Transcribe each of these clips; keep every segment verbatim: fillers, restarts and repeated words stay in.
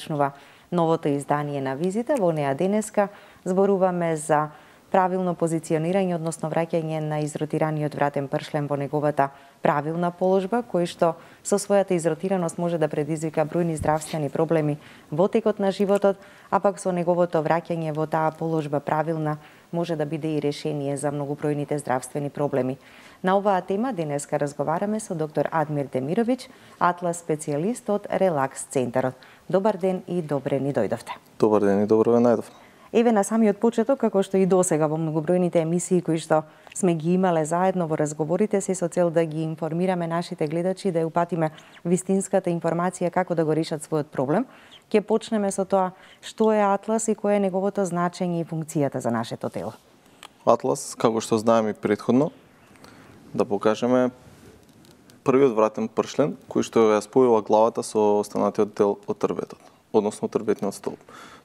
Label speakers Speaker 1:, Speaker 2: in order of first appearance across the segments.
Speaker 1: почнува новото издание на Визита. Во неа денеска зборуваме за правилно позиционирање, односно враќање на изротираниот вратен пршлен во неговата правилна положба, кој што со својата изротираност може да предизвика бројни здравствени проблеми во текот на животот, а пак со неговото враќање во таа положба правилна може да биде и решение за многобројните здравствени проблеми. На оваа тема денеска разговараме со доктор Адмир Демировиќ, атлас специјалист од Релакс центарот. Добар ден и добре ни дојдовте.
Speaker 2: Добар ден и добро ве најдов.
Speaker 1: Еве на самиот почеток, како што и досега во многобројните емисии кои што сме ги имале заедно во разговорите си со цел да ги информираме нашите гледачи, да ја упатиме вистинската информација како да го решат својот проблем, ќе почнеме со тоа што е атлас и кое е неговото значење и функцијата за нашето тело.
Speaker 2: Атлас, како што знаеме предходно, да покажеме првиот вратен пршлен кој што ја спојува главата со останатиот дел од трбетот, односно трбетниот столб.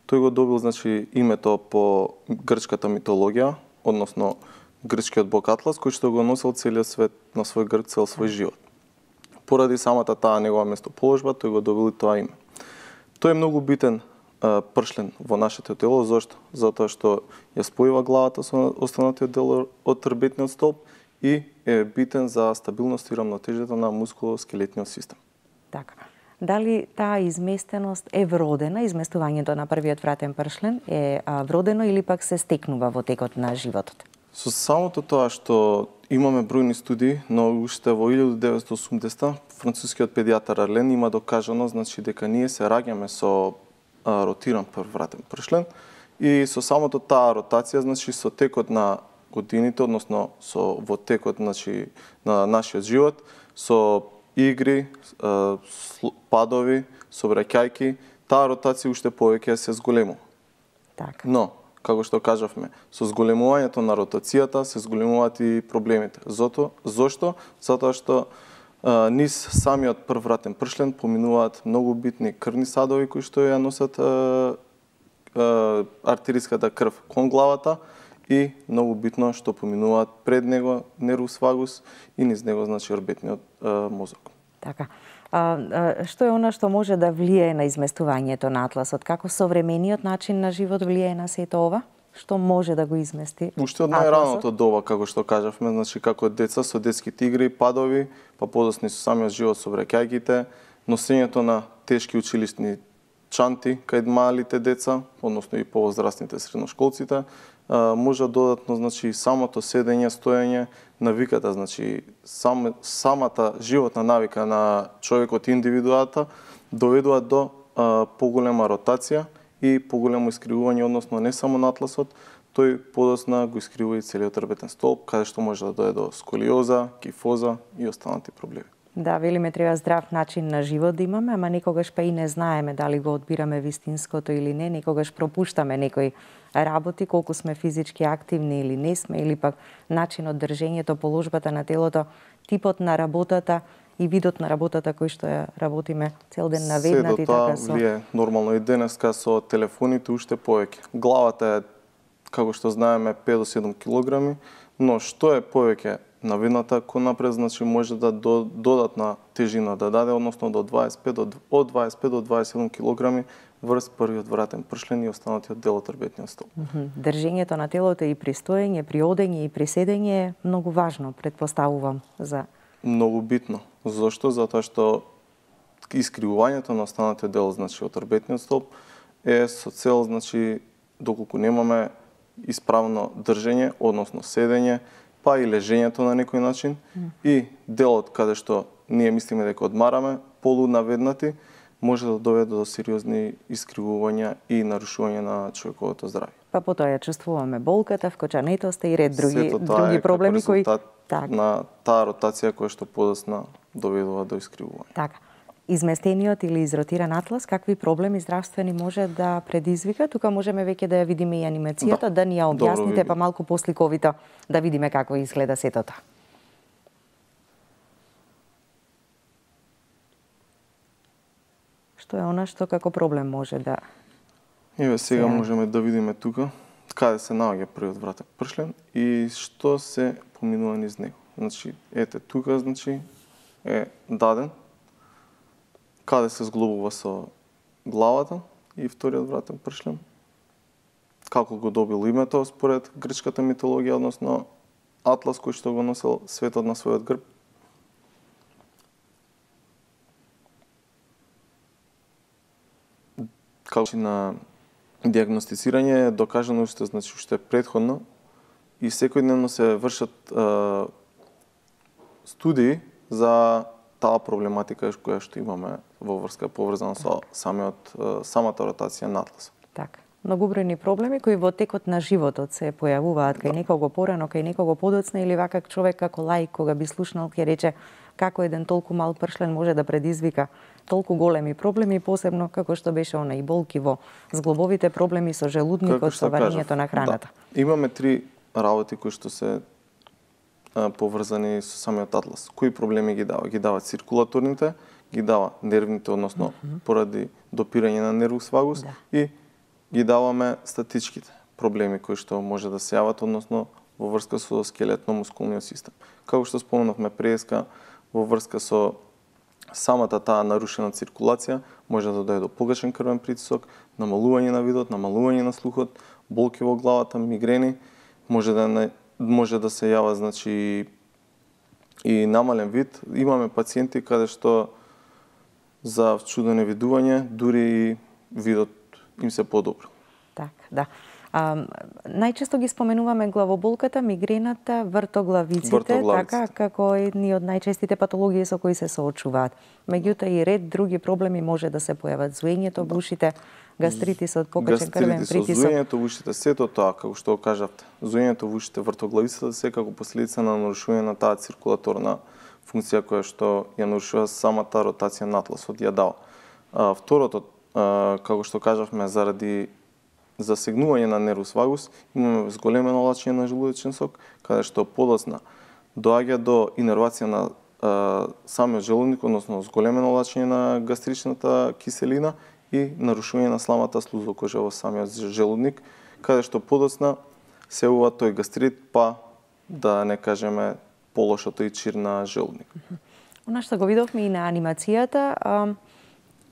Speaker 2: Тој го добил, значи, името по грчката митологија, односно грчкиот бог Атлас, кој што го носел целиот свет на свој грб цел свој живот. Поради самата таа негова местоположба, тој го добил и тоа име. Тој е многу битен а, пршлен во нашето тело, зошто? Затоа што ја спојува главата со останатиот дел од трбетниот столб и е битен за стабилност и рамнотежата на мускулоскелетниот систем.
Speaker 1: Така. Дали таа изместеност е вродена, изместувањето на првиот вратен пршлен е вродено или пак се стекнува во текот на животот?
Speaker 2: Со самото тоа што имаме бројни студии, но уште во илјадум деветстотини и осумдесета францускиот педијатар Арлен има докажано, значи, дека ние се раѓаме со а, ротиран прв вратен пршлен и со самото таа ротација, значи, со текот на годините, односно со во текот, значи, на нашиот живот, со игри, падови, собраќајки, таа ротација уште повеќе се зголемува.
Speaker 1: Така.
Speaker 2: Но, како што кажавме, со зголемувањето на ротацијата се зголемуваат и проблемите. Зото, зошто? Затоа што а, низ самиот прв вратен пршлен поминуваат многу битни крвни садови кои што ја носат а, а, артериската крв кон главата, и многу битно што поминуваат пред него нервус вагус и низ него, значи, орбитниот а, мозок.
Speaker 1: Така. А, а, што е она што може да влијае на изместувањето на атласот? Како современиот начин на живот влијае на сето ова? Што може да го измести?
Speaker 2: Уште од најраното доба, како што кажавме, значи, како деца со детските игри, падови, па подосни со самиот живот со собраќајките, носењето на тешки училишни чанти кај малите деца, односно и повозрастните средношколците, може додатно, значи, самото седење, стоење, навиката, значи, сам, самата животна навика на човекот и индивидуата доведуваат до а, поголема ротација и поголемо искривување, односно не само на атласот, тој подосна го искривува и целиот трбетен столб, каде што може да дојде до сколиоза, кифоза и останати проблеми.
Speaker 1: Да, велиме треба здрав начин на живот да имаме, ама некогаш па и не знаеме дали го одбираме вистинското или не, некогаш пропуштаме некои работи, колку сме физички активни или не сме, или пак начинот, држењето, положбата на телото, типот на работата и видот на работата кој што ја работиме цел ден наведнати.
Speaker 2: Се до тоа
Speaker 1: така со...
Speaker 2: влие нормално и денеска со телефоните уште повеќе. Главата е, како што знаеме, пет до седум килограми, но што е повеќе наведната кон напред, значи, може да до, додатна тежина да даде, односно до дваесет и пет до, од дваесет и пет до дваесет и седум килограми врз првиот вратен пршлен и останатиот дел од трбетниот столб.
Speaker 1: Држењето на телото и при стоење, при одење и при седење е многу важно, предпоставувам, за...
Speaker 2: Многу битно. Зошто? Затоа што искривувањето на останатиот дел, значи, од трбетниот столб е со цел, значи, доколку немаме исправно држење, односно седење, па и лежењето на некој начин, mm. и делот каде што ние мислиме дека одмараме, полунаведнати, може да доведе до сериозни искривувања и нарушување на човековото здравје.
Speaker 1: Па потоа ја чувствуваме болката, вкочанетоста и ред други, други проблеми кои...
Speaker 2: Так. На таа ротација која што подосна доведува до искривување.
Speaker 1: Така. Изместениот или изротиран атлас, какви проблеми здравствени може да предизвика? Тука можеме веќе да ја видиме и анимацијата, да, да ни ја објасните, па малку посликовито да видиме како изгледа сето тоа. Што е она што како проблем може да...
Speaker 2: Еве сега можеме да видиме тука каде се наоѓа првиот вратен пршлен и што се поминува низ него. Значи, ете тука, значи, е даден каде се зглобува со главата и вториот вратен пршлен. Како го добил името според грчката митологија, односно Атлас кој што го носел светот на својот грб. Како на диагностицирање е докажано уште, значи уште претходно и секојдневно се вршат е, студии за таа проблематика која што имаме во врска поврзана со самиот самата ротација на Атласот.
Speaker 1: Така. Многобројни проблеми кои во текот на животот се појавуваат кај да. некого порано, кај некого подоцна или вака човек како лаик кога би слушнал ќе рече како еден толку мал пршлен може да предизвика толку големи проблеми, посебно како што беше она и болки во зглобовите, проблеми со желудникот, со варењето на храната.
Speaker 2: Да. Имаме три работи кои што се а, поврзани со самиот Атлас. Кои проблеми ги дава? Ги дава циркулаторните, ги дава нервните, односно mm -hmm. поради допирање на нервус вагус да. и ги даваме статичките проблеми кои што може да се јават, односно во врска со скелетно-мускулниот систем. Како што спомнавме преска, во врска со самата таа нарушена циркулација може да дојде до погашен крвен притисок, намалување на видот, намалување на слухот, болки во главата, мигрени, може да не, може да се јава, значи и намален вид. Имаме пациенти каде што за чудо невидување дури и видот им се подобро.
Speaker 1: Так, да. А, најчесто ги споменуваме главоболката, мигрената, вртоглавиците, вртоглавиците, така како едни од најчестите патологии со кои се соочуваат. Меѓутоа и ред други проблеми може да се појават, зуењето во ушите, гастритисот, покачен крвен притисок.
Speaker 2: Гастритисот, зуењето во ушите, сето тоа, како што кажавте, зуењето во ушите, вртоглавицата се како последица на нарушување на таа циркулаторна функција која што ја нарушува самата ротација на Атласот, ја дава. А, второто, а, како што кажавме, заради засегнување на нервус вагус, имаме зголемено лачење на желудочен сок, каде што подоцна доаѓа до инервација на а, самиот желудник, односно зголемено лачење на гастричната киселина и нарушување на сламата слузокожа во самиот желудник, каде што подоцна се ува тој гастрит, па да не кажеме полошото и чир на желудник.
Speaker 1: Она што го видовме и на анимацијата, а,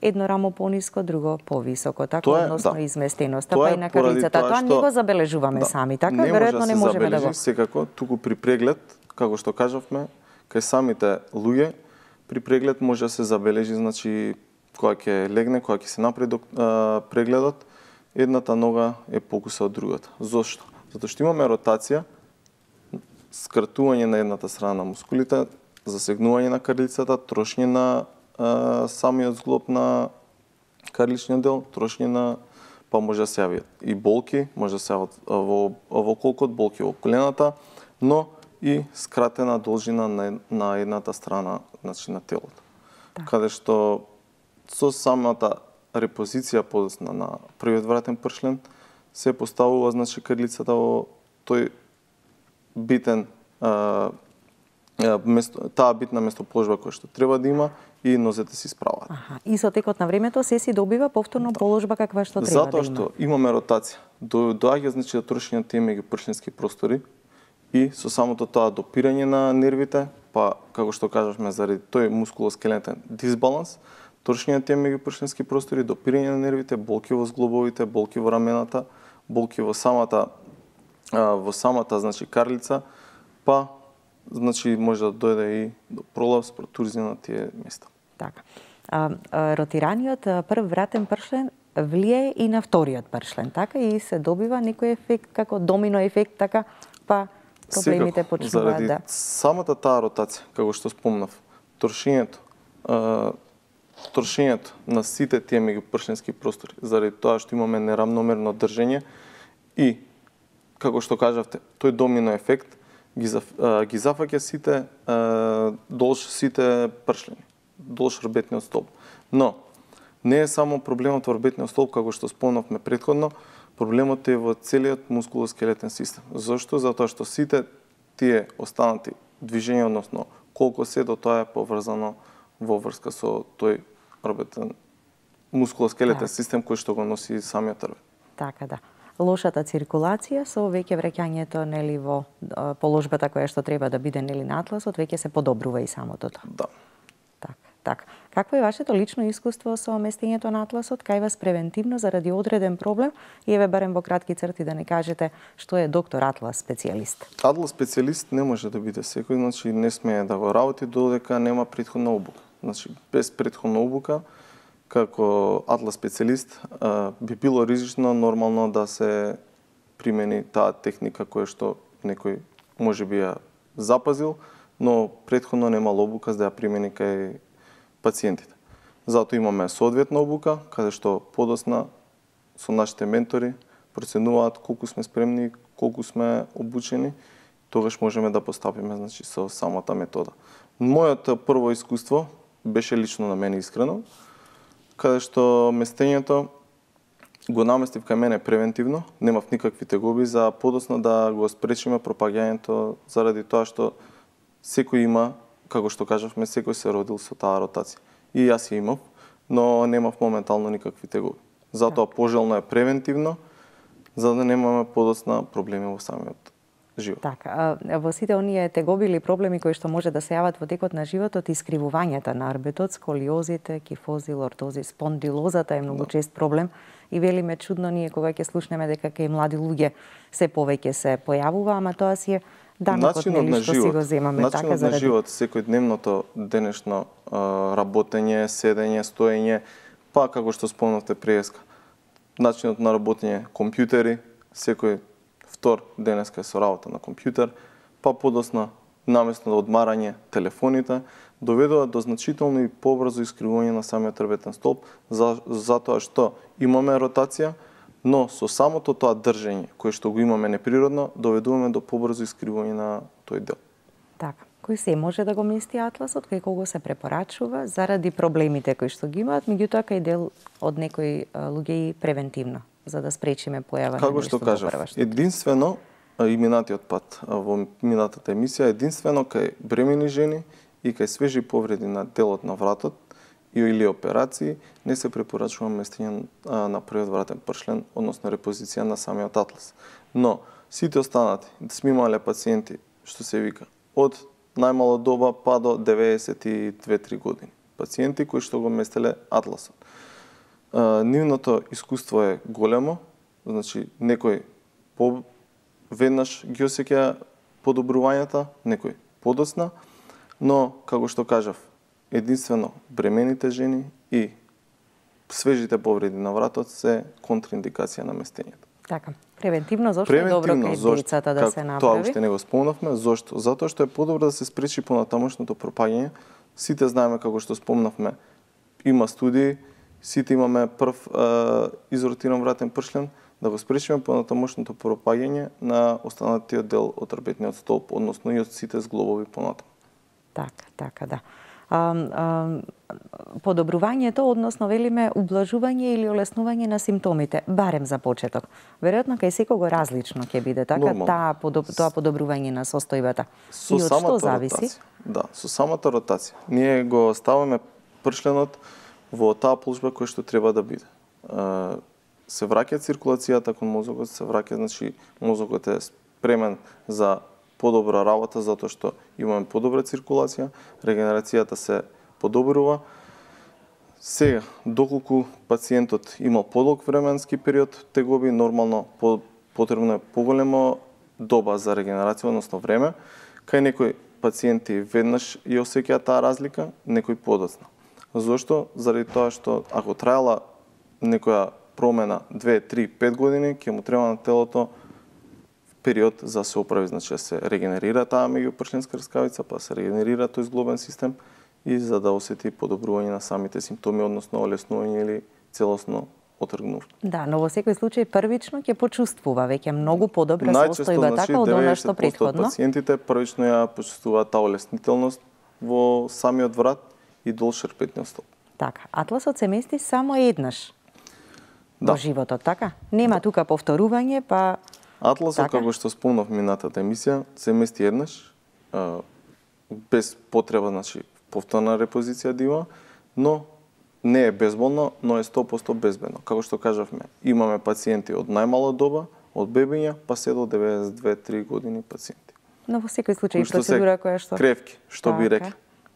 Speaker 1: едно рамо пониско, друго повисоко, така
Speaker 2: тоа е,
Speaker 1: односно
Speaker 2: да.
Speaker 1: изместеноста, па и на карлицата. Тоа, тоа не го забележуваме да, сами, така
Speaker 2: не
Speaker 1: веројатно
Speaker 2: може
Speaker 1: не
Speaker 2: да
Speaker 1: можеме да го.
Speaker 2: Секако, туку при преглед, како што кажавме, кај самите луѓе, при преглед може да се забележи, значи, кога ќе легне, кога ќе се направи прегледот, едната нога е покуса од другата. Зошто? Затоа што имаме ротација, скратување на едната страна на мускулите, засегнување на карлицата, трошење на а, самиот зглоб на карличниот дел, трошење на, па може да се јават и болки, може да се јават во, во колкот, болки во колената, но и скратена должина на, на едната страна, значи на телото. Да. Каде што со самата репозиција подоцна на првиот вратен пршлен се поставува, значи, карлицата во тој битен а, место, таа битна местоположба која што треба да има и нозете се исправаат.
Speaker 1: Аха. И со текот на времето се си добива повторно да. положба каква што треба
Speaker 2: Затоа
Speaker 1: да има.
Speaker 2: Затоа што имаме ротација, до, доаѓа, значи, до трошење тие меѓупршленски простори и со самото тоа допирање на нервите, па како што кажавме заради тој мускулоскелетен дисбаланс, трошење на тие меѓупршленски простори, допирање на нервите, болки во зглобовите, болки во рамената, болки во самата во самата, значи, карлица, па, значи, може да дојде и до пролапс, протузија на тие места.
Speaker 1: Така. А, а, ротираниот прв вратен пршлен влие и на вториот пршлен, така? И се добива некој ефект, како домино ефект, така, па проблемите
Speaker 2: Секако,
Speaker 1: почнуваат
Speaker 2: заради
Speaker 1: да...
Speaker 2: самата таа ротација, како што спомнав, трошењето, а, трошењето на сите тие меѓупршленски простори, заради тоа што имаме нерамномерно држење и како што кажавте, тој домино ефект ги, заф, а, ги зафаќа сите а, долж сите пршлени, долж рбетниот столб. Но не е само проблемот во рбетниот столб, како што спомнавме претходно, проблемот е во целиот мускулоскелетен систем. Зошто? Затоа што сите тие останати движења, односно колку се до тоа е поврзано во врска со тој рбетен мускулоскелетен да. систем кој што го носи самиот рбет.
Speaker 1: Така да. Лошата циркулација со веќе враќањето нели во положбата која што треба да биде нели на атласот, веќе се подобрува и самото тоа.
Speaker 2: Да.
Speaker 1: Така. Така. Какво е вашето лично искуство со местењето на атласот? Кај вас превентивно заради одреден проблем? И еве барем во кратки црти да не кажете што е доктор Атлас специјалист.
Speaker 2: Атлас специјалист не може да биде секој, значи не смее да го работи додека нема претходна обука. Значи без претходна обука како атлас специјалист би било ризично нормално да се примени таа техника која што некој можеби ја запазил, но претходно немал обука за да ја примени кај пациентите. Затоа имаме соодветна обука, каде што подосна со нашите ментори проценуваат колку сме спремни, колку сме обучени, тогаш можеме да постапиме значи со самата метода. Моето прво искуство беше лично на мене искрено, каде што местењето го наместив кај мене превентивно, немав никакви тегоби за подоцна да го спречиме пропагањето заради тоа што секој има, како што кажавме, секој се родил со таа ротација. И јас ја имав, но немав моментално никакви тегоби. Затоа пожелно е превентивно, за да немаме подоцна проблеми во самиот живот.
Speaker 1: Така, во сите оние тегоби или проблеми кои што може да се јават во текот на животот, искривувањата на арбетот, сколиозите, кифози, лортози, спондилозата е многу да. чест проблем. И велиме чудно ние кога ќе слушнеме дека кај млади луѓе се повеќе се појавува, ама тоа си е данокот нели што си го земаме.
Speaker 2: Начинот
Speaker 1: така заради...
Speaker 2: на живот, секојдневното денешно работење, седење, стоење, па како што спомнавте преска, начинот на работење, компјутери, секој втор денеска е со работа на компјутер, па подосна наместо да одмарање телефоните, доведува до значително и побрзо искривување на самиот трбетен столб, за, затоа што имаме ротација, но со самото тоа држење, кое што го имаме неприродно, доведуваме до побрзо искривување на тој дел.
Speaker 1: Така, кој се може да го мести атласот, кај кого се препорачува заради проблемите кои што ги имаат, меѓутоа кај дел од некои луѓе и превентивно, за да спречиме појава на
Speaker 2: како што кажав, единствено и минатиот пат во минатата емисија, единствено кај бремени жени и кај свежи повреди на делот на вратот или операции не се препорачува местење на првиот вратен пршлен, односно репозиција на самиот атлас. Но сите останати, сме имале пациенти, што се вика, од најмало доба па до деветдесет и две три години. Пациенти кои што го местеле атласот. Нивното искуство е големо, значи некој по веднаш ги осеќа подобрувањата, некој подоцна, но како што кажав, единствено бремените жени и свежите повреди на вратот се контраиндикација на местењето.
Speaker 1: Така, превентивно зошто е добро кај децата да се направи?
Speaker 2: Тоа уште не го спомнавме, зошто? Затоа што е подобро да се спречи понатамошното пропаѓање. Сите знаеме како што спомнавме, има студии, сите имаме прв е, изротиран вратен пршлен, да го спречиме понатамошното пропаѓање на останатиот дел од трбетниот столб, односно и од сите зглобови понатаму.
Speaker 1: Така, така, да. А, а, подобрувањето, односно велиме ублажување или олеснување на симптомите, барем за почеток. Веројатно кај секого различно ќе биде, така таа подоб, тоа подобрување на состојбата.
Speaker 2: Со
Speaker 1: и од што зависи?
Speaker 2: Ротација. Да, со самата ротација. Ние го ставаме пршленот во таа положба која што треба да биде. А, се враќа циркулацијата кон мозокот, се враќа, значи мозокот е спремен за подобра работа затоа што имаме подобра циркулација, регенерацијата се подобрува. Сега, доколку пациентот имал подолг временски период тегоби, нормално потребно е поголемо доба за регенерација, односно време. Кај некои пациенти веднаш ја осеќаат таа разлика, некои подоцна. Зошто? Заради тоа што ако траела некоја промена две, три, пет години, ќе му треба на телото период за да се оправи, значи да се регенерира таа меѓупршленска рскавица, па се регенерира тој зглобен систем и за да осети подобрување на самите симптоми, односно олеснување или целосно отргнување. Да,
Speaker 1: но во секој случај првично ќе почувствува веќе многу подобра состојба,
Speaker 2: значи,
Speaker 1: така од она што претходно.
Speaker 2: Најчесто пациентите првично ја почувствуваат таа олеснителност во самиот врат и долж шерпетниот столб.
Speaker 1: Така, атласот се мести само еднаш
Speaker 2: да.
Speaker 1: во животот, така? Нема да. тука повторување, па
Speaker 2: Атласот, така? Како што спомнав минатата емисија, се мести еднаш, а, без потреба, значи, повторна репозиција да има, но не е безболно, но е сто проценти безбедно. Како што кажавме, имаме пациенти од најмала доба, од бебиња, па се до деветдесет и две три години пациенти.
Speaker 1: Но во секој случај процедура која што...
Speaker 2: Кревки, што така, би рекли.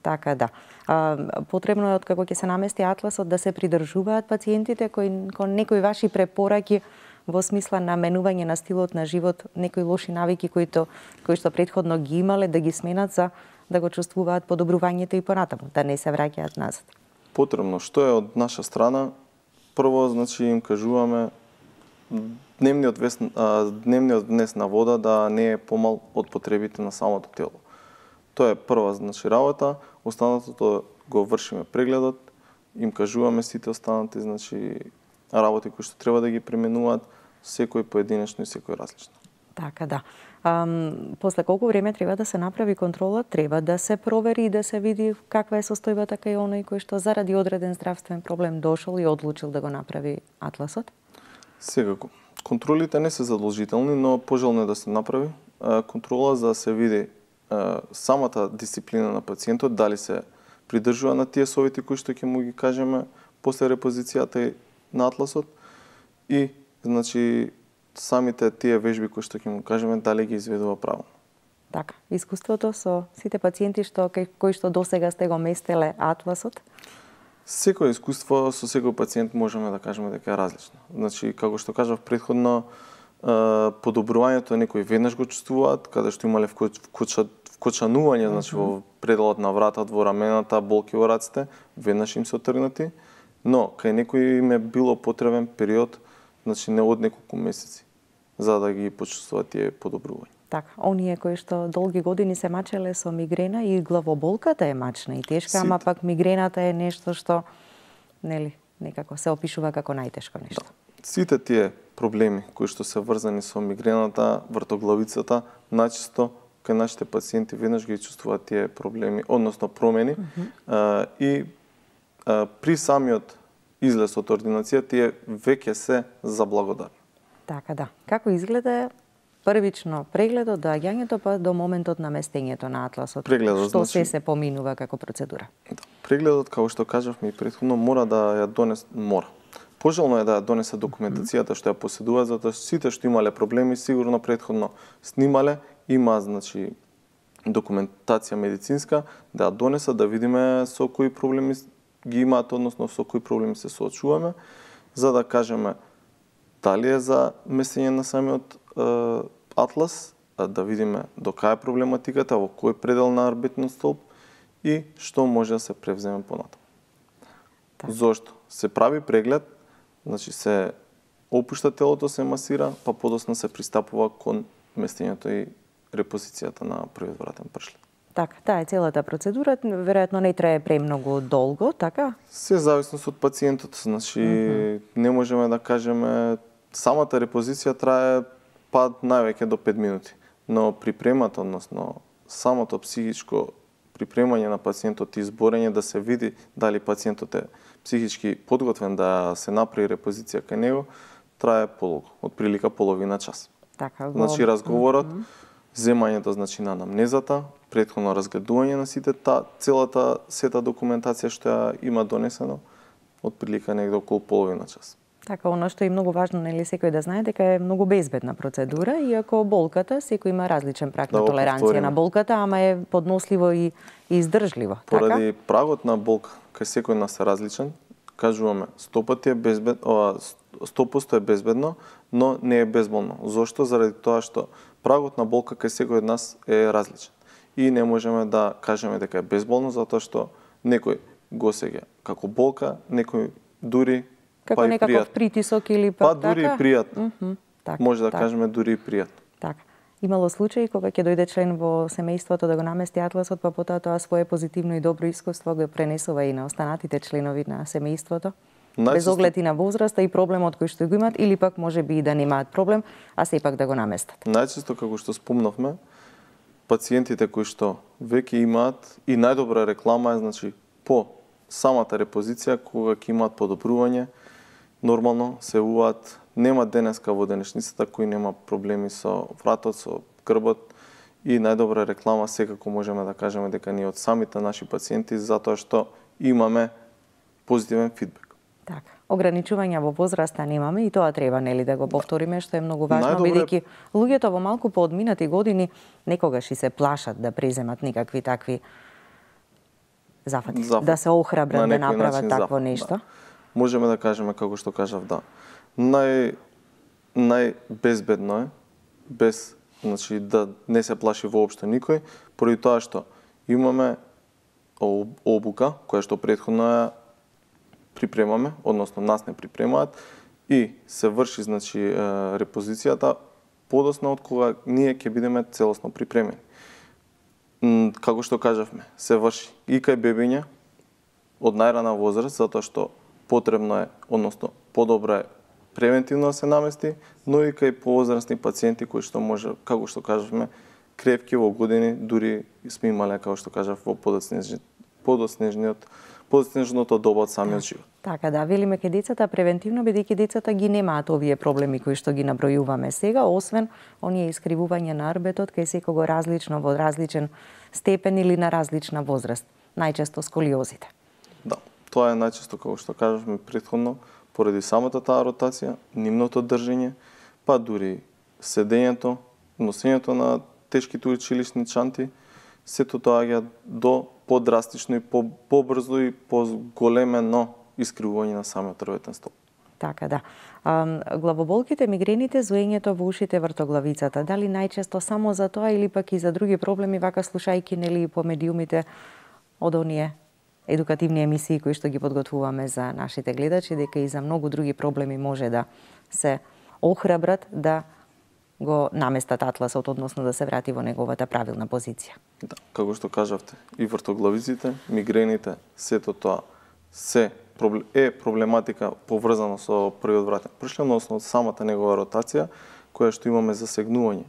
Speaker 1: Така да. А, потребно е откако ќе се намести атласот да се придржуваат пациентите кои кон некои ваши препораки во смисла на менување на стилот на живот, некои лоши навики кои то, кои што претходно ги имале да ги сменат за да го чувствуваат подобрувањето и понатаму, да не се враќаат назад.
Speaker 2: Потребно што е од наша страна? Прво, значи им кажуваме дневниот вес, а, дневниот внес на вода да не е помал од потребите на самото тело. Тоа е прва, значи, работа. Останатото го вршиме прегледот, им кажуваме сите останати, значи, работи кои што треба да ги применуваат, секој поединечно и секој различно.
Speaker 1: Така да. А, после колку време треба да се направи контрола? Треба да се провери и да се види каква е состојбата кај оној кој што заради одреден здравствен проблем дошол и одлучил да го направи атласот?
Speaker 2: Секако. Контролите не се задолжителни, но пожелно е да се направи контрола за да се види самата дисциплина на пациентот, дали се придржува на тие совети кои што ќе му ги кажеме после репозицијата на атласот и, значи, самите тие вежби кои што ќе му кажеме дали ги изведува правилно.
Speaker 1: Така, искуството со сите пациенти што кои што досега сте го местеле атласот?
Speaker 2: Секој искуство со секој пациент можеме да кажеме дека е различно. Значи, како што кажав претходно, подобрувањето некои веднаш го чувствуваат, каде што имале вкочанување, значи во пределот на вратот, во рамената, болки во раците, веднаш им се отргнати, но кај некои им е било потребен период, значи не од неколку месеци, за да ги почувствуваат тие подобрувања.
Speaker 1: Така, оние кои што долги години се мачеле со мигрена и главоболката е мачна и тешка, ама пак мигрената е нешто што, нели, некако се опишува како најтешко нешто.
Speaker 2: Да. Сите тие проблеми кои што се врзани со мигрената, вртоглавицата, најчесто кај нашите пациенти веднаш ги чувствуваат тие проблеми, односно промени, mm -hmm. а, и а, при самиот излез од ординација тие веќе се заблагодарни.
Speaker 1: Така да. Како изгледа првично прегледот, доаѓањето па до моментот на местењето на атласот?
Speaker 2: Прегледот,
Speaker 1: што
Speaker 2: значи,
Speaker 1: се се поминува како процедура?
Speaker 2: Да. Прегледот, како што кажавме и претходно, мора да ја донесе, мора. Пожелно е да ја донесе документацијата што ја поседува, затоа сите што имале проблеми сигурно претходно снимале, има, значи, документација медицинска, да ја донесат да видиме со кои проблеми ги имаат, односно со кои проблеми се соочуваме, за да кажеме дали е за местење на самиот е, атлас, да видиме до кај е проблематиката, во кој предел на арбитниот столб и што може да се превземе понатаму.
Speaker 1: Так.
Speaker 2: Зошто? Се прави преглед, значи се опушта телото, се масира, па подоцна се пристапува кон местењето и репозицијата на првиот вратен пршлен.
Speaker 1: Така, таа е целата процедура, веројатно не трае премногу долго, така?
Speaker 2: Се зависност од пациентот, значи mm -hmm. не можеме да кажеме самата репозиција трае па највеќе до пет минути, но припремата, односно самото психичко припремање на пациентот и изборење да се види дали пациентот е психички подготвен да се направи репозиција кај него, трае подолго, од прилика половина час.
Speaker 1: Така, го...
Speaker 2: Значи разговорот, mm -hmm. земањето, значи, на анамнезата, претходно разгледување на сите та целата сета документација што ја има донесено, од прилика негде околу половина час.
Speaker 1: Така, оно што е многу важно, нели, секој да знае дека е многу безбедна процедура, иако болката, секој има различен праг да, на толеранција на болката, ама е подносливо и, и издржливо.
Speaker 2: Поради
Speaker 1: така?
Speaker 2: прагот на болка кај секој нас е различен, кажуваме сто пати е безбед, ова, сто проценти е безбедно, но не е безболно. Зошто? Заради тоа што прагот на болка кај секој од нас е различен. И не можеме да кажеме дека е безболно, затоа што некој го сеќа како болка, некој дури
Speaker 1: како
Speaker 2: па
Speaker 1: некаков притисок или па,
Speaker 2: па дури
Speaker 1: така?
Speaker 2: и пријатно.
Speaker 1: Mm -hmm, така,
Speaker 2: Може да
Speaker 1: така.
Speaker 2: кажеме дури и пријатно.
Speaker 1: Така. Имало случаи кога ќе дојде член во семејството да го намести атласот, па потоа тоа свое позитивно и добро искуство го пренесува и на останатите членови на семејството? Најчесто... Без оглед и на возраста и проблемот кој што го имаат, или пак може би и да немаат проблем, а сепак да го наместат?
Speaker 2: Најчесто, како што спомнавме, пациентите кои што веќе имаат и најдобра реклама е, значи, по самата репозиција, кога ќе имаат подобрување, нормално се уваат, нема денеска во денешницата кој нема проблеми со вратот, со грбот, и најдобра реклама секако можеме да кажеме дека ние од самите наши пациенти, затоа што имаме позитивен фидбек.
Speaker 1: Така. Ограничувања во возраста немаме и тоа треба, нели, да го повториме, што е многу важно,
Speaker 2: Најдобре...
Speaker 1: бидејќи луѓето во малку поодминати години некогаш и се плашат да преземат никакви такви зафати,
Speaker 2: зафати.
Speaker 1: да се охрабрат да направат
Speaker 2: начин
Speaker 1: такво
Speaker 2: зафати,
Speaker 1: нешто.
Speaker 2: Да. Можеме да кажеме, како што кажав, да. Нај најбезбедно е, без, значи, да не се плаши воопшто никој, поради тоа што имаме обука, која што претходно ја припремаме, односно нас не припремаат, и се врши, значи, репозицијата подоцна од кога ние ќе бидеме целосно припремени. Како што кажавме, се врши и кај бебиња од најрана возраст, затоа што потребно е, односно подобро е превентивно да се намести, но и кај повозрастни пациенти кои што може, како што кажавме, крепки во години, дури сме имале, како што кажав, во подоцнежниот подоцнежниот подоцнежното доба од самиот живот.
Speaker 1: Така да, велиме кај децата превентивно, бидејќи децата ги немаат овие проблеми кои што ги набројуваме сега, освен оние искривување на арбетот кај секого различно во различен степен или на различна возраст, најчесто сколиозите.
Speaker 2: Да, тоа е најчесто, како што кажавме претходно, поради самата таа ротација, нивното држење, па дури седењето, носењето на тешките училишни чанти, сето тоа доаѓа до подрастично и побрзо и поголемено искривување на самиот рветен столб.
Speaker 1: Така да. А, главоболките, мигрените, зуењето во ушите, вртоглавицата, дали најчесто само за тоа или пак и за други проблеми, вака слушајки нели по медиумите од оние едукативни емисии кои што ги подготвуваме за нашите гледачи, дека и за многу други проблеми може да се охрабрат да го наместат атласот, односно да се врати во неговата правилна позиција.
Speaker 2: Да, како што кажавте, и вртоглавиците, мигрените, сето тоа се е проблематика поврзана со првиот вратен пршлен, односно самата негова ротација, која што имаме засегнување.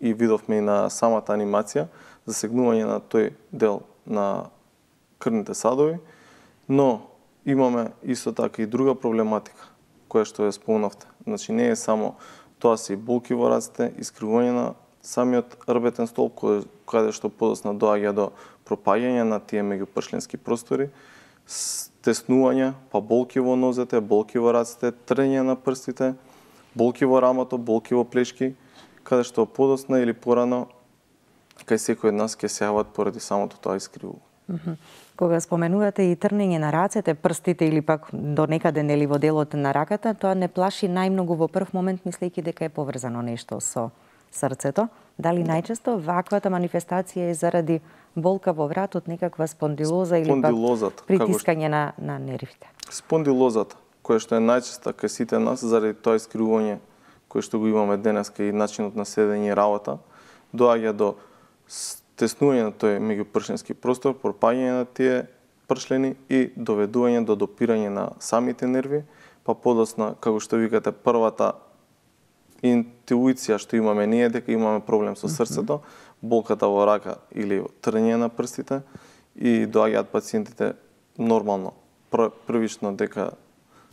Speaker 2: И видовме и на самата анимација, засегнување на тој дел на крвните садови, но имаме исто така и друга проблематика, која што ја спомнавте. Значи не е само тоа се и болки во рацете, искривување на самиот рбетен столб, каде што подоцна доаѓа до пропаѓање на тие меѓупршленски простори, стеснување, па болки во нозете, болки во рацете, трење на прстите, болки во рамото, болки во плешки, каде што подоцна или порано кај секој од нас ќе се јават поради самото тоа искривување.
Speaker 1: Mm -hmm. Кога споменувате и трнење на рацете, прстите или пак до некаде нели во делот на раката, тоа не плаши најмногу во прв момент, мислејќи дека е поврзано нешто со срцето. Дали најчесто ваквата манифестација е заради болка во вратот, некаква спондилоза или пак притискање на, на нервите?
Speaker 2: Спондилозата, која што е најчеста кај сите нас, заради тоа искривување кој што го имаме денеска и начинот на седење и работа, доаѓа до теснување на тој меѓупршленски простор, пропаѓање на тие пршлени и доведување до допирање на самите нерви, па подоцна, како што викате, првата интуиција што имаме ние дека имаме проблем со срцето, болката во рака или трење на прстите, и доаѓаат пациентите нормално, првично дека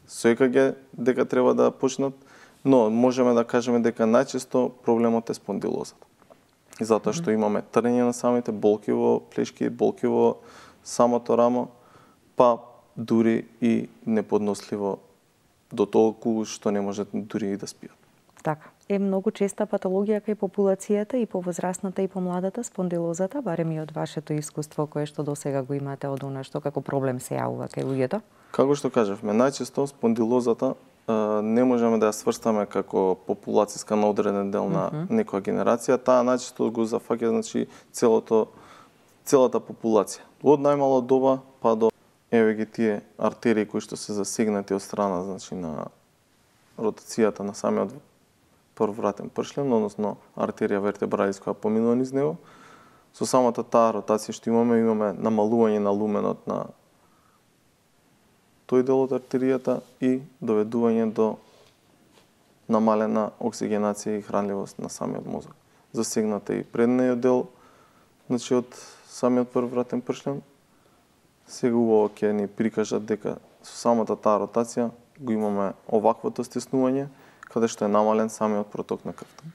Speaker 2: со е ка ге дека треба да почнат, но можеме да кажеме дека најчесто проблемот е спондилозата. Затоа што имаме трење на самите, болки во плешки, болки во самото рамо, па дури и неподносливо до толку што не можат дури и да спијат.
Speaker 1: Така. Е многу честа патологија кај популацијата и повозрастната и помладата спондилозата, барем и од вашето искуство кое што досега го имате од она што како проблем се јавува кај луѓето?
Speaker 2: Како што кажавме, најчесто спондилозата не можеме да ја сврстаме како популацијска на одреден дел на mm -hmm. некоја генерација, таа најчесто го зафаќа, значи, целото целата популација. Од најмало доба па до еве ги тие артерии кои што се засегнати од страна, значи, на ротацијата на самиот прввратен пршлен, односно артерија вертебралис која поминува низ него. Со самата таа ротација што имаме, имаме намалување на луменот на тој дел од артеријата и доведување до намалена оксигенација и хранливост на самиот мозок. Засегната и предниот дел, значи, од самиот прввратен пршлен. Сега убаво ќе ни прикажат дека со самата таа ротација го имаме оваквото стеснување, каде што е намален самиот проток на крвта.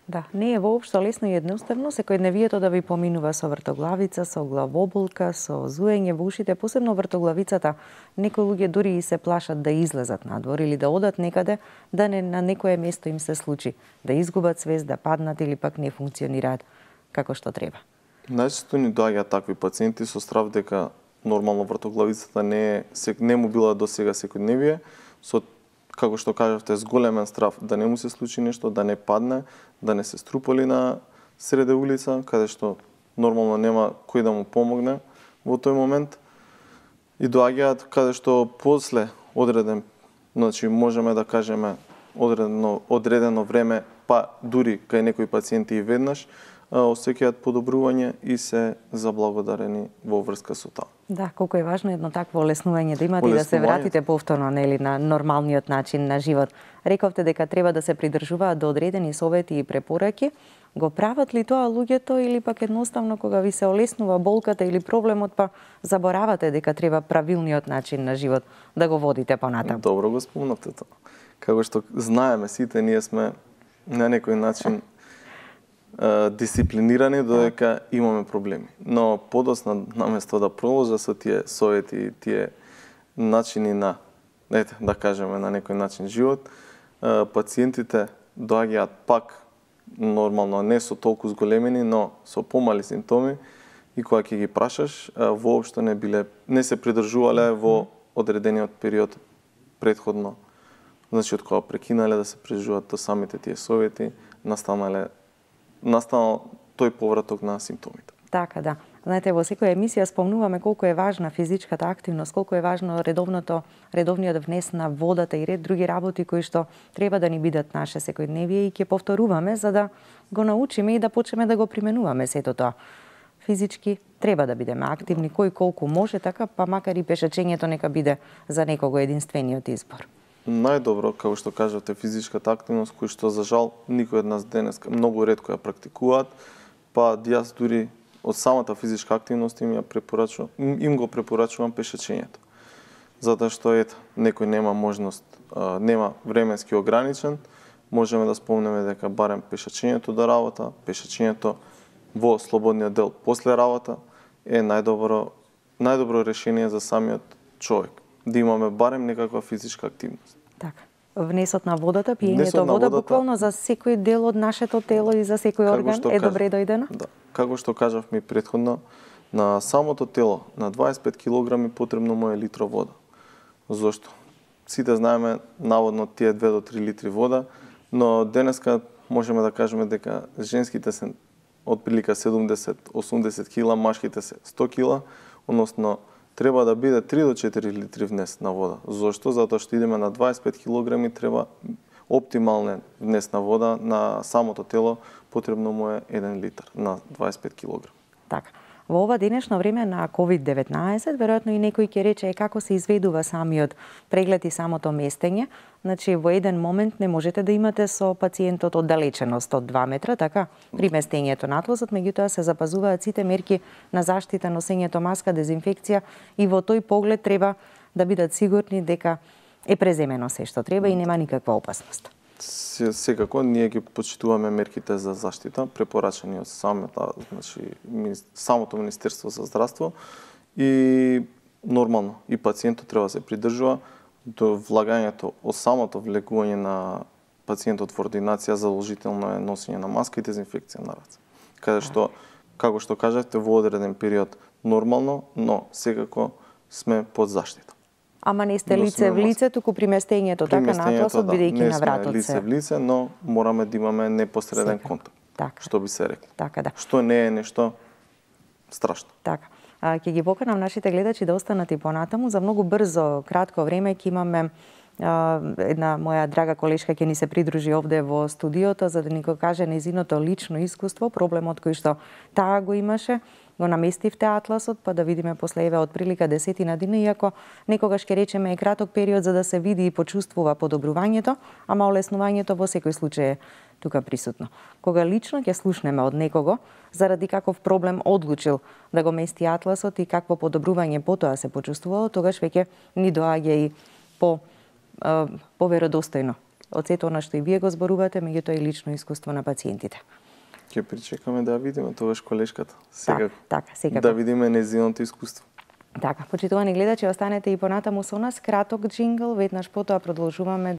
Speaker 1: Да, не е воопшто лесно и едноставно секојдневието да ви поминува со вртоглавица, со главоболка, со зуење во ушите, посебно вртоглавицата. Некои луѓе дури и се плашат да излезат надвор или да одат некаде, да не на некое место им се случи, да изгубат свест, да паднат или пак не функционираат како што треба.
Speaker 2: Најчесто ни доаѓаат такви пациенти со страв дека нормално вратоглавицата не е не му била до сега секојдневие, со како што кажавте зголемен страв да не му се случи нешто, да не падне, да не се струпали на среде улица, каде што нормално нема кој да му помогне во тој момент. И доаѓаат каде што после одреден, значи можеме да кажеме одредено одредено време, па дури кај некои пациенти и веднаш, осеќаат подобрување и се заблагодарени во врска со тоа.
Speaker 1: Да, колку е важно едно такво олеснување да имате и да се вратите повторно нели на нормалниот начин на живот. Рековте дека треба да се придржуваат до одредени совети и препораки. Го прават ли тоа луѓето или пак едноставно кога ви се олеснува болката или проблемот, па заборавате дека треба правилниот начин на живот да го водите понатаму?
Speaker 2: Добро го спомнавте тоа. Како што знаеме сите, ние сме на некој начин дисциплинирани додека имаме проблеми. Но подосна наместо да продолжа со тие совети и тие начини на, ете, да кажеме на некој начин живот, пациентите доаѓаат пак нормално не со толку зголемени, но со помали симптоми и кога ќе ги прашаш, воопшто не биле не се придржувале во одредениот период претходно. Значи од кога прекинале да се придржуваат до самите тие совети, настанале настанал тој повраток на симптомите.
Speaker 1: Така, да. Знаете, во секоја емисија спомнуваме колку е важна физичката активност, колку е важно редовното, редовниот внес на водата и ред други работи кои што треба да ни бидат наше секојдневие и ќе повторуваме за да го научиме и да почнеме да го применуваме сето тоа. Физички треба да бидеме активни, кој колку може, така, па макар и пешачењето нека биде за некого единствениот избор.
Speaker 2: Најдобро, како што кажавте, физичката активност, кој што за жал никој од нас денес многу ретко ја практикуваат, па јас дури од самата физичка активност им ја препорачувам, им го препорачувам пешачењето. Затоа што ето, некој нема можност, нема временски ограничен, можеме да спомнеме дека барем пешачењето до работа, пешачењето во слободниот дел после работа е најдобро најдобро решение за самиот човек. Да имаме барем некаква физичка активност.
Speaker 1: Така. Внесот на водата, пиењето вода, водата, буквално за секој дел од нашето тело и за секој орган е добре дојдено?
Speaker 2: Да. Како што кажавме претходно, на самото тело, на дваесет и пет килограми потребно му е литро вода. Зошто? Сите знаеме наводно тие две до три литри вода, но денеска можеме да кажеме дека женските се отприлика седумдесет до осумдесет кила, машките се сто кила, односно треба да биде три до четири литри внес на вода. Зошто? Затоа што идеме на дваесет и пет килограми, треба оптимален внес на вода на самото тело, потребно му е еден литар на дваесет и пет килограми.
Speaker 1: Така. Во ова денешно време на ковид деветнаесет, веројатно и некој ќе рече е како се изведува самиот преглед и самото местење. Значи, во еден момент не можете да имате со пациентот оддалеченост од два метра, така, при местењето на атласот, меѓутоа се запазуваат сите мерки на заштита, носењето маска, дезинфекција и во тој поглед треба да бидат сигурни дека е преземено се што треба и нема никаква опасност.
Speaker 2: Секако, ние ги почитуваме мерките за заштита, препорачани од самото, значи, самото Министерство за здравство и нормално и пациентот треба да се придржува до влагањето од самото влегување на пациентот во ординација, задолжително е носење на маска и дезинфекција на раце. Каде што, како што кажавте, во одреден период нормално, но секако сме под заштита.
Speaker 1: Ама не сте лице в лице, туку при местењето, така, на атласот, бидејќи на вратот се.
Speaker 2: Не сме лице в лице, но мораме да имаме непосреден
Speaker 1: Сека.
Speaker 2: контакт,
Speaker 1: така.
Speaker 2: Што би се рекло.
Speaker 1: Така, да.
Speaker 2: Што не е нешто страшно.
Speaker 1: Така. А, ќе ги поканам нашите гледачи да останат и понатаму. За многу брзо, кратко време ќе имаме а, една моја драга колешка ќе ни се придружи овде во студиото за да ни го каже нејзиното лично искуство, проблемот кој што таа го имаше. Го наместивте атласот, па да видиме после еве од прилика десетина дена, иако некогаш ќе речеме е краток период за да се види и почувствува подобрувањето, ама олеснувањето во секој случај е тука присутно. Кога лично ќе слушнеме од некого заради каков проблем одлучил да го мести атласот и какво подобрување потоа се почувствувало, тогаш веќе ни доаѓа и по поверодостојно од сето она што и вие го зборувате, меѓутоа и лично искуство на пациентите.
Speaker 2: Ќе причекаме да видиме тогаш колешката. Секако.
Speaker 1: Така, така, секако.
Speaker 2: Да видиме нејзиното искуство.
Speaker 1: Така, почитувани гледачи, останете и понатаму со нас. Краток джингл, веднаш потоа продолжуваме.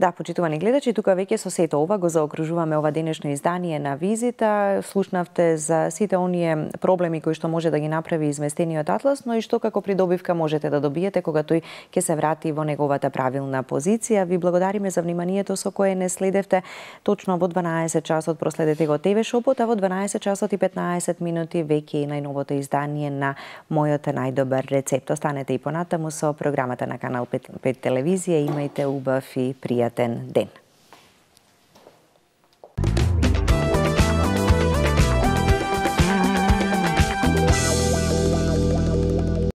Speaker 1: Да, почитувани гледачи, тука веќе со сето ова го заокружуваме ова денешно издание на Визита. Слушнавте за сите оние проблеми кои што може да ги направи изместениот атлас, но и што како придобивка можете да добиете кога тој ќе се врати во неговата правилна позиција. Ви благодариме за вниманието со кое не следевте. Точно во дванаесет часот проследете го ТВ Шопот, а во дванаесет часот и петнаесет минути веќе и најновото издание на Мојот најдобар рецепт. Останете и понатаму со програмата на Канал пет телевизија. Имајте убав и пријатен ден.